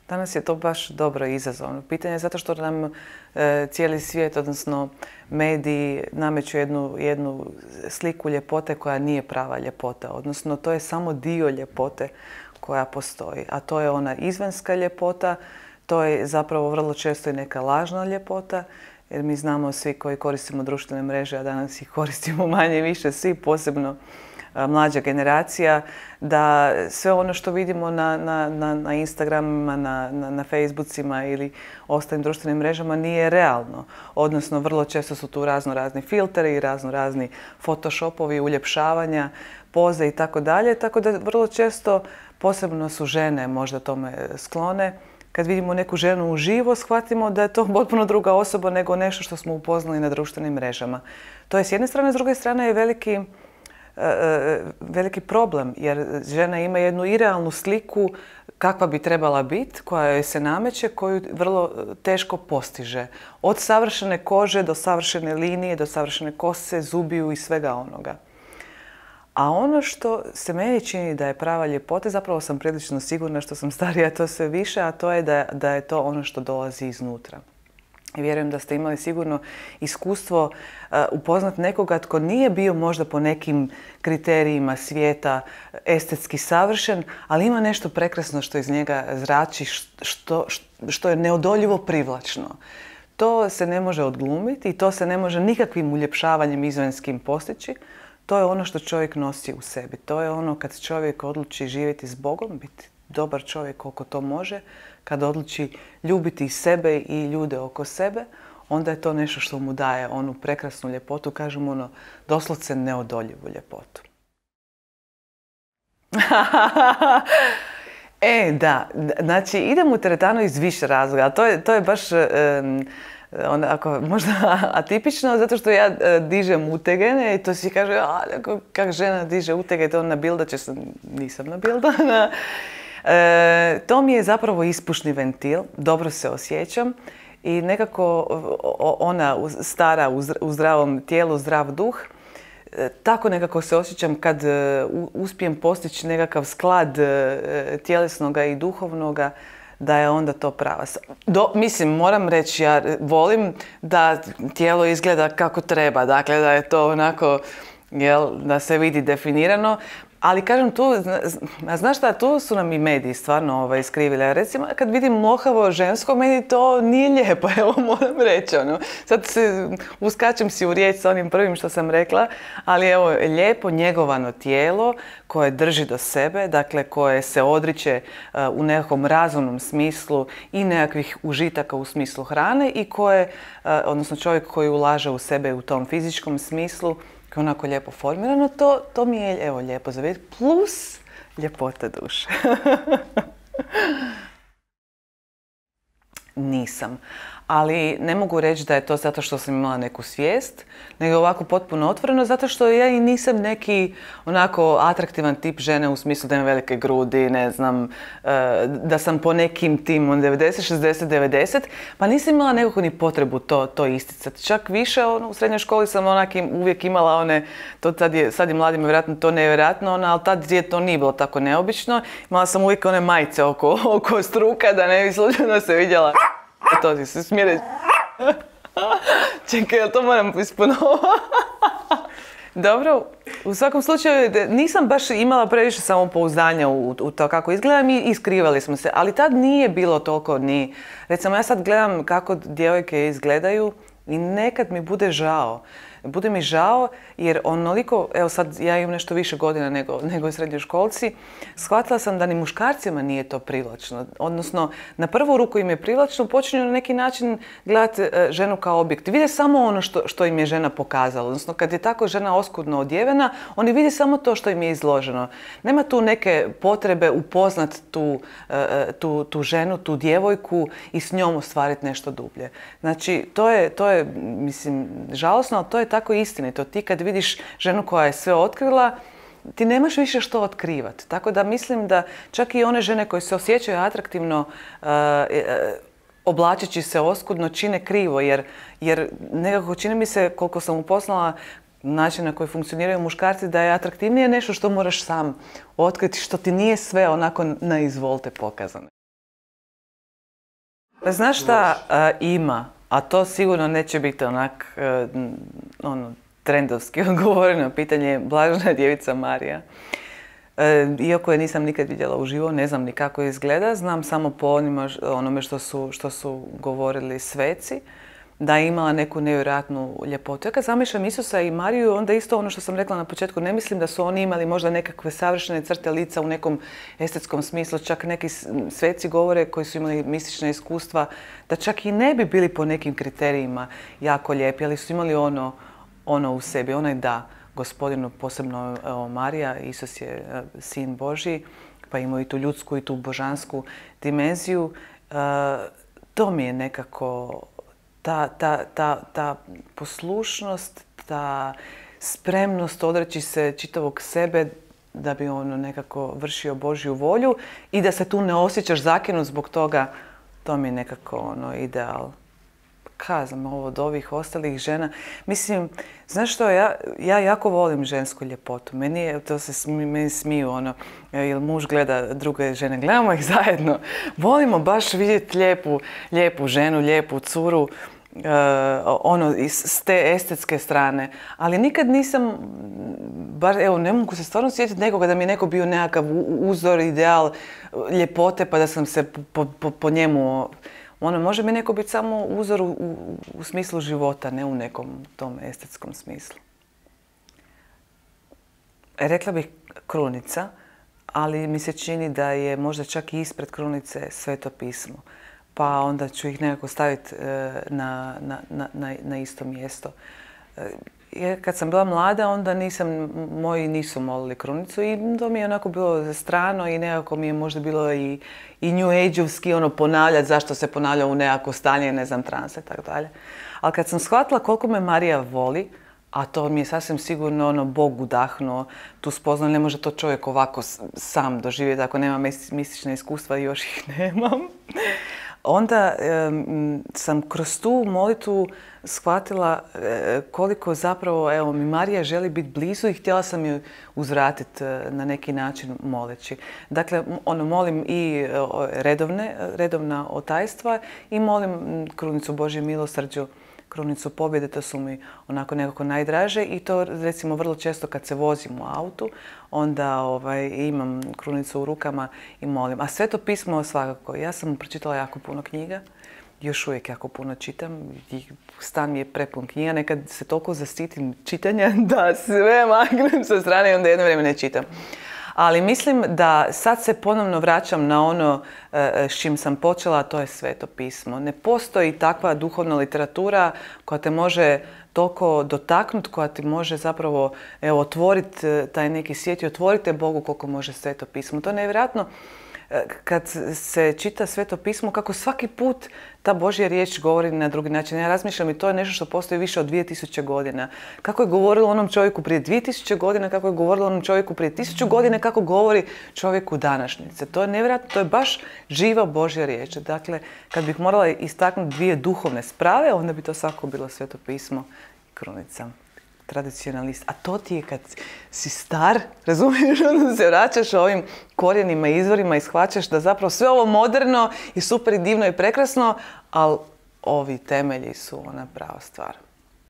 Danas je to baš dobro izazovno pitanje zato što nam cijeli svijet, odnosno mediji, nameću jednu sliku ljepote koja nije prava ljepota. Odnosno, to je samo dio ljepote koja postoji. A to je ona izvanjska ljepota, to je zapravo vrlo često i neka lažna ljepota. Jer mi znamo svi koji koristimo društvene mreže, a danas ih koristimo manje više svi, posebno mlađa generacija, da sve ono što vidimo na Instagramima, na Facebookima ili ostalim društvenim mrežama nije realno. Odnosno, vrlo često su tu razni filteri i razni photoshopovi, uljepšavanja, poze i tako dalje. Tako da vrlo često, posebno su žene možda tome sklone, kad vidimo neku ženu uživo, shvatimo da je to potpuno druga osoba nego nešto što smo upoznali na društvenim mrežama. To je s jedne strane, s druge strane je veliki problem, jer žena ima jednu irealnu sliku kakva bi trebala biti, koja joj se nameće, koju vrlo teško postiže. Od savršene kože do savršene linije, do savršene kose, zubiju i svega onoga. A ono što se meni čini da je prava ljepota, zapravo sam prilično sigurna što sam starija to sve više, a to je da je to ono što dolazi iznutra. I vjerujem da ste imali sigurno iskustvo upoznat nekoga tko nije bio možda po nekim kriterijima svijeta estetski savršen, ali ima nešto prekrasno što iz njega zrači, što je neodoljivo privlačno. To se ne može odglumiti i to se ne može nikakvim uljepšavanjem izvanjskim postići. To je ono što čovjek nosi u sebi. To je ono kad čovjek odluči živjeti s Bogom, biti dobar čovjek koliko to može, kad odluči ljubiti sebe i ljude oko sebe, onda je to nešto što mu daje onu prekrasnu ljepotu, kažemo doslovce neodoljivu ljepotu. Da, znači idem u teretanu iz više razloga, to je baš onako možda atipično, zato što ja dižem utege i to svi kažu, kak žena diže utege, to nabildaće se, nisam nabildana. To mi je zapravo ispušni ventil, dobro se osjećam i nekako ona stara u zdravom tijelu, zdrav duh, tako nekako se osjećam kad uspijem postići nekakav sklad tjelesnoga i duhovnoga, da je onda to prava. Mislim, moram reći, ja volim da tijelo izgleda kako treba, dakle da je to onako, da se vidi definirano. Ali kažem tu, znaš šta, tu su nam i mediji stvarno iskrivili. Recimo, kad vidim mlohavo žensko, meni to nije lijepo, evo moram reći. Sad uskačem si u riječ sa onim prvim što sam rekla, ali evo, lijepo njegovano tijelo koje drži do sebe, dakle koje se odriče u nekakvom razumnom smislu i nekakvih užitaka u smislu hrane i koje, odnosno čovjek koji ulaže u sebe u tom fizičkom smislu, koji je onako lijepo formirano, to mi je evo lijepo za vidjeti, plus ljepota duše. Nisam. Ali ne mogu reći da je to zato što sam imala neku svijest, nego ovako potpuno otvoreno, zato što ja i nisam neki onako atraktivan tip žene u smislu da imam velike grudi, ne znam, da sam po nekim tim 90, 60, 90, pa nisam imala nekako ni potrebu to isticati. Čak više u srednjoj školi sam uvijek imala one, sad je mladima vjerojatno to nevjerojatno, ali tad je to nije bilo tako neobično. Imala sam uvijek one majice oko struka da ne bi slučajno se vidjela. To ti se smije reći. Čekaj, to moram isponovati. Dobro, u svakom slučaju nisam baš imala previše samopouzdanja u to kako izgledam i iskrivali smo se. Ali tad nije bilo toliko ni... Recimo, ja sad gledam kako djevojke izgledaju i nekad mi bude žao. Bude mi žao jer onoliko, evo sad ja imam nešto više godina nego srednjoškolci, shvatila sam da ni muškarcima nije to privlačno. Odnosno, na prvu ruku im je privlačno, počinju na neki način gledati ženu kao objekt. Vide samo ono što im je žena pokazala. Odnosno, kad je tako žena oskudno odjevena, oni vide samo to što im je izloženo. Nema tu neke potrebe upoznat tu ženu, tu djevojku i s njom ostvariti nešto dublje. Znači, to je, mislim, žalosno, ali to je tako istinito. Ti kad vidiš ženu koja je sve otkrila, ti nemaš više što otkrivati. Tako da mislim da čak i one žene koje se osjećaju atraktivno oblačeći se oskudno čine krivo, jer nekako čini mi se, koliko sam upoznala način na koji funkcioniraju muškarci, da je atraktivnije nešto što moraš sam otkriti, što ti nije sve onako na izvolte pokazano. Pa znaš šta ima, a to sigurno neće biti onak trendovski odgovoreno pitanje je Blažena djevica Marija. Iako je nisam nikad vidjela uživo, ne znam ni kako izgleda, znam samo po onome što su govorili sveci, da je imala neku nevjerojatnu ljepotu. Ja kad zamišljam Isusa i Mariju, onda isto ono što sam rekla na početku, ne mislim da su oni imali možda nekakve savršene crte lica u nekom estetskom smislu, čak neki sveci govore koji su imali mistična iskustva, da čak i ne bi bili po nekim kriterijima jako lijepi, ali su imali ono u sebi, onaj da. Gospodinu, posebno Marija, Isus je sin Božji, pa ima i tu ljudsku i tu božansku dimenziju. To mi je nekako ta poslušnost, ta spremnost odreći se čitavog sebe da bi ono nekako vršio Božju volju i da se tu ne osjećaš zakinut zbog toga, to mi je nekako ideal. Kazam ovo od ovih ostalih žena. Mislim, znaš što, ja jako volim žensku ljepotu. Meni smiju jer muž gleda druge žene. Gledamo ih zajedno. Volimo baš vidjeti lijepu ženu, lijepu curu, s te estetske strane. Ali nikad nisam, ne mogu se stvarno sjetiti nekoga da mi je neko bio nekakav uzor, ideal ljepote pa da sam se po njemu... Može mi neko biti samo uzor u smislu života, ne u nekom tom estetskom smislu. Rekla bih krunica, ali mi se čini da je možda čak i ispred krunice Sveto pismo. Pa onda ću ih nekako staviti na isto mjesto. Kad sam bila mlada, onda moji nisu molili krunicu i to mi je onako bilo strano i nekako mi je možda bilo i New Age-ovski ponavljati zašto se ponavlja u nekako stanje, ne znam, transa i tako dalje. Ali kad sam shvatila koliko me Marija voli, a to mi je sasvim sigurno Bog udahnuo, tu spoznao, ne može to čovjek ovako sam doživjeti ako nema mistična iskustva i još ih nemam. Onda sam kroz tu molitvu shvatila koliko zapravo mi Marija želi biti blizu i htjela sam ju uzvratiti na neki način moleći. Dakle, molim i redovna otajstva i molim krunicu Božje milosrđu, krunicu pobjede, to su mi onako nekako najdraže i to recimo vrlo često kad se vozim u autu, onda imam krunicu u rukama i molim. A Sveto pismo svakako. Ja sam pročitala jako puno knjiga, još uvijek jako puno čitam. Stan mi je prepun knjiga, nekad se toliko zasitim čitanja da sve maknem sa strane i onda jedno vrijeme ne čitam. Ali mislim da sad se ponovno vraćam na ono s čim sam počela, a to je Sveto pismo. Ne postoji takva duhovna literatura koja te može toliko dotaknuti, koja ti može zapravo otvoriti taj neki svijet i otvoriti Bogu koliko može Sveto pismo. To je nevjerojatno kad se čita Sveto pismo, kako svaki put ta Božja riječ govori na drugi način. Ja razmišljam i to je nešto što postoji više od 2000 godina. Kako je govorilo onom čovjeku prije 2000 godina, kako je govorilo onom čovjeku prije 1000 godina, kako govori čovjeku današnjice. To je nevjerojatno, to je baš živa Božja riječ. Dakle, kad bih morala istaknuti dvije duhovne sprave, onda bi to svako bilo Sveto pismo i krunica. Tradicionalist. A to ti je kad si star, razumiješ, onda se vraćaš ovim korijenima i izvorima i shvaćaš da zapravo sve ovo moderno i super i divno i prekrasno, ali ovi temelji su ona prava stvar.